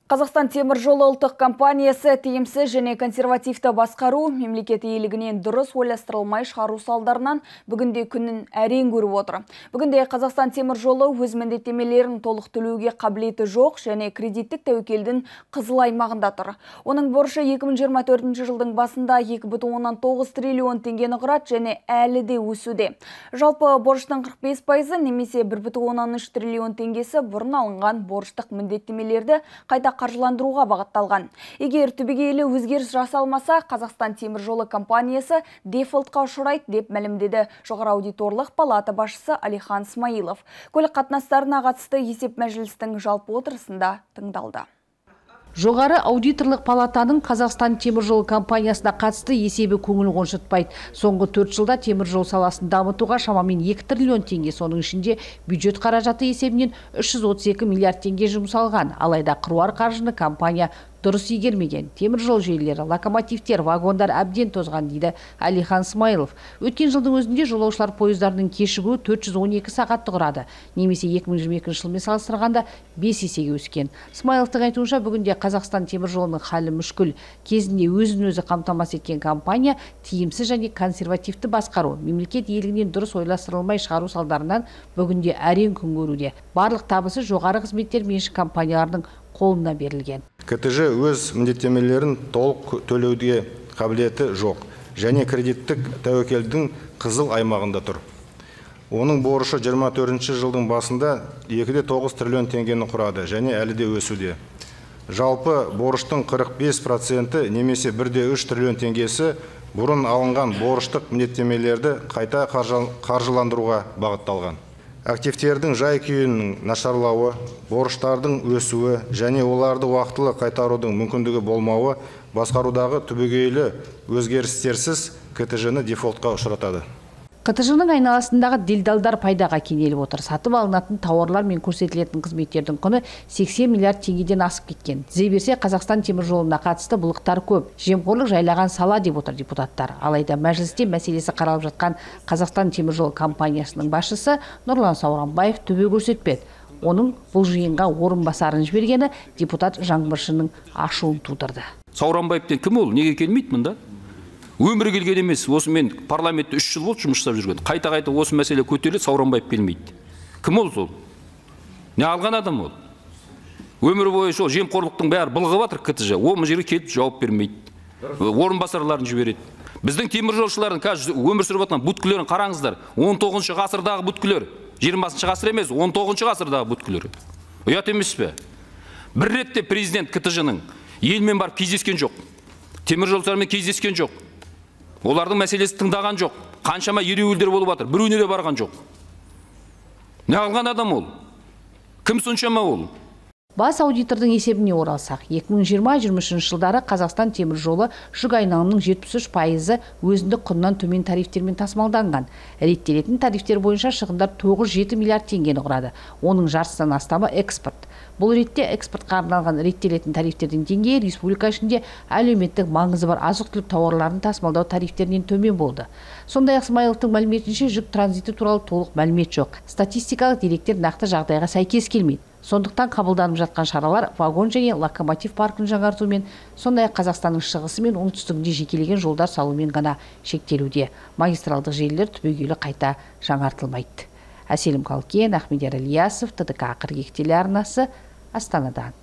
Қазақстан темір жолы ұлттық компаниясы тиімсіз және консервативті басқару, мемлекет иелігінен дұрыс ойластырылмай шығару салдарынан бүгінде күнін әрең көріп отыр. Бүгінде Қазақстан темір жолы өз міндеттемелерін толық төлеуге қабілеті жоқ және кредиттік тәуекелдің қызыл аймағында тұр. Оның борышы 2024 жылдың басында 2,9 триллион теңгені құрады және әлі де өсуде. Жалпы борыштың 45% немесе 1,13 триллион теңгесі бұрын алынған борыштық міндеттемелерді қайта қаржыландыруға бағытталған. Егер түбегейлі өзгеріс жасалмаса, Қазақстан темір жолы компаниясы дефолтқа ұшырайды деп мәлімдеді жоғары аудиторлық палата басшысы Алихан Смайылов. Көлік қатынастарына қатысты есеп мәжілістің жалпы отырысында тыңдалды. Жоғары аудиторлық палатаның Қазақстан темір жолы компаниясына қатысты есебі көңіл қоншытпайды. Соңғы 4 жылда темір жол саласын дамытуға шамамен 2 триллион теңге, соның ішінде бюджет қаражаты есебінен 332 миллиард теңге жұмсалған. Алайда қыруар қаржыны компания дұрыс игермеген. Темір жол желілері, локомотивтер, вагондар әбден тозған дейді Алихан Смайылов. Өткен жылдың өзінде жолаушылар пойыздарының кешігуі 412 сағатты құрады. Немесе 2022 жылмен салыстырғанда 5 есеге өскен. Смайыловтың айтуынша бүгінде Қазақстан темір жолының халі мүшкіл. Кезінде өзін-өзі қамтамасыз еткен компания тиімсіз және консервативті басқару, мемлекет иелігінен дұрыс ойластырылмай шығару салдарынан бүгінде әрең күн көруде. Барлық табысы жоғары қызметтер меншік компанияларының қолына берілген. КТЖ өз міндеттемелерін толық төлеуге қабілеті жоқ және кредиттік тәуекелдің қызыл аймағында тұр. Оның борышы 24 жылдың басында 2,9 триллион теңгені құрады және әлі де өсуде. Жалпы борыштың 45% немесе 1,3 триллион теңгесі бұрын алынған борыштық міндеттемелерді қайта қаржыландыруға бағытталған. Активтердің жай-күйінің нашарлауы, борыштардың өсуі және оларды уақытылы қайтарудың мүмкіндігі болмауы басқарудағы түбегейлі өзгерістерсіз КТЖ-ні дефолтқа ұшыратады. КТЖ-ның айналасындағы делдалдар пайдаға кенеліп отыр. Сатып алынатын тауарлар мен көрсетілетін қызметтердің құны 80 миллиард теңгеден асып кеткен. Тізе берсе, Қазақстан темір жолына қатысты былықтар көп. Жемқорлық жайлаған сала деп отыр депутаттар. Алайда мәжілісте мәселесі қаралып жатқан Қазақстан темір жолы компаниясының басшысы Нұрлан Сауранбаев төбе көрсетпеді. Оның бұл жиынға орынбасарын жібергені депутат Жаңбыршының ашуын тудырды. Сауранбаевтен кім ол? Неге келмейді мұнда? Өмірі келген емес, осы мен парламентте 3 жыл болды жұмыс жасап жүрген. Қайта-қайта осы мәселе көтеріледі, Сауранбаев келмейді. Кім ол сол? Не алған адам ол? Өмір бойы сол жемқорлықтың бәрі былғап жатыр КТЖ. Ол жерге келіп жауап бермейді. Орынбасарларын жібереді. Біздің темір жолшылардың қазір өмір сүріп жатқан бүткілерін қараңыздар. 19 ғасырдағы бүткілер, 20 ғасыр емес, 19 ғасырдағы бүткілер. Ұят емес пе? Бір ретте президент КТЖ-ның елмен барып кездескен жоқ. Темір жолшылармен кездескен жоқ. Олардың мәселесі тыңдаған жоқ. Қаншама ереуілдер болып жатыр. Біреуіне де барған жоқ. Не алған адам ол? Кім соншама ол? Бас аудитордың есебіне оралсақ, 2020-23 жылдары Қазақстан темір жолы жүк айналымының 73% өзіндік құнынан төмен тарифтермен тасымалданған. Реттелетін тарифтер бойынша шығындар 9-7 миллиард теңгені құрады. Оның жартысынан астамы экспорт. Бұл ретте экспортқа арналған реттелетін тарифтердің деңгейі республика ішінде әлеуметтік маңызы бар азық-түлік тауарларын тасымалдау тарифтерінен төмен болды. Сондай-ақ Смайыловтың мәліметінше жүк транзиті туралы толық мәлімет жоқ. Статистикалық деректер нақты жағдайға сәйкес келмейді. Сондықтан қабылданып жатқан шаралар вагон және локомотив паркін жаңартумен, сондай-ақ Қазақстанның шығысы мен оңтүстігінде жекелеген жолдар салумен ғана шектелуде. Магистралдық желілер түбегейлі қайта жаңартылмайды. Әселім Қалкен, Ахмедияр Ильясов, ТДК 42 телеарнасы, Астанадан.